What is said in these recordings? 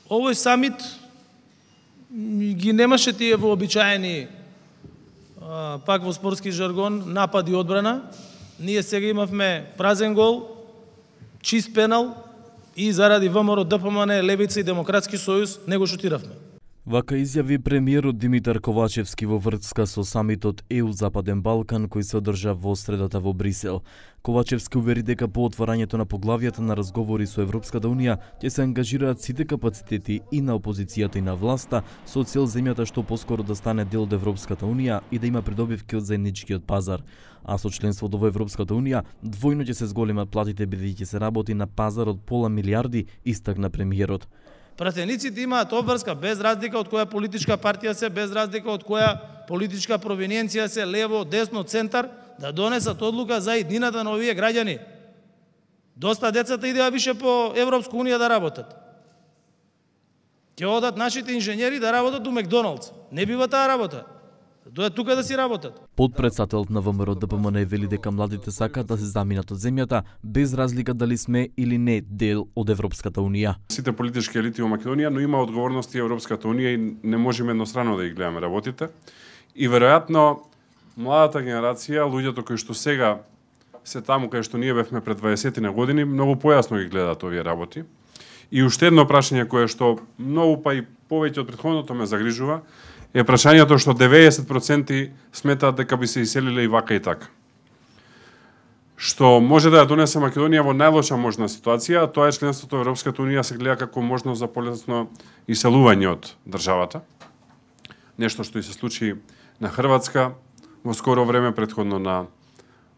Овој самит ги немаше тие вообичаени, пак во спортски жаргон, напад и одбрана. Ние сега имавме празен гол, чист пенал и заради ВМРО, ДПМН, Левица и Демократски сојуз не го шутиравме. Вака изјави премиерот Димитар Ковачевски во врска со самитот ЕУ Западен Балкан кој се одржа во средата во Брисел. Ковачевски увери дека по отварањето на поглавијата на разговори со Европската Унија ќе се ангажираат сите капацитети и на опозицијата и на власта со цел земјата што поскоро да стане дел од Европската Унија и да има придобивки од заедничкиот пазар. А со членството во Европската Унија двојно ќе се зголемат платите бидејќи се работи на пазар од пола милиарди, истакна премиерот. Пратениците имаат обврска без разлика од која политичка партија се, без разлика од која политичка провиненција се, лево, десно, центар, да донесат одлука за иднината на овие граѓани. Доста децата идеа више по Европска Унија да работат. Ќе одат нашите инженери да работат у Макдоналдс. Не бива таа работа. Дојат тука да си работат. Подпредседателот на ВМРО ДПМН вели дека младите сакаат да се заминат од земјата без разлика дали сме или не дел од Европската Унија. Сите политички елити во Македонија, но има одговорности Европската Унија и не можеме еднострано да ги гледаме работите. И веројатно младата генерација, луѓето кои што сега се таму кај што ние бевме пред 20 на години, многу појасно ги гледаат овие работи. И уште едно прашање кое што многу па и повеќе од претходното ме загрижува е прашањето што 90% сметаат дека би се иселиле и вака и така. Што може да ја донесе Македонија во најлоша можна ситуација, а тоа е членството во Европската Унија се гледа како можност за полесно иселување од државата. Нешто што и се случи на Хрватска во скоро време, претходно на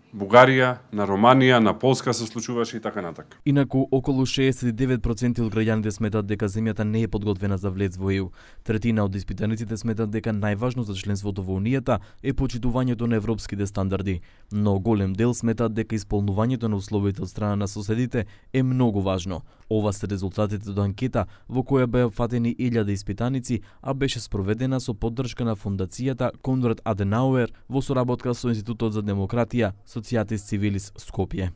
Бугарија, на Романија, на Полска се случуваше и така натака. Инаку, околу 69% од граѓаните сметат дека земјата не е подготвена за влез во ЕУ. Третина од испитаниците сметат дека најважно за членството во Унијата е почитувањето на европските стандарди, но голем дел сметат дека исполнувањето на условите од страна на соседите е многу важно. Ова се резултатите од анкета во која беа фатени 1000 испитаници, а беше спроведена со поддршка на фондацијата Конрад Аденауер во соработка со Институтот за демократија Societas Civilis Skopje.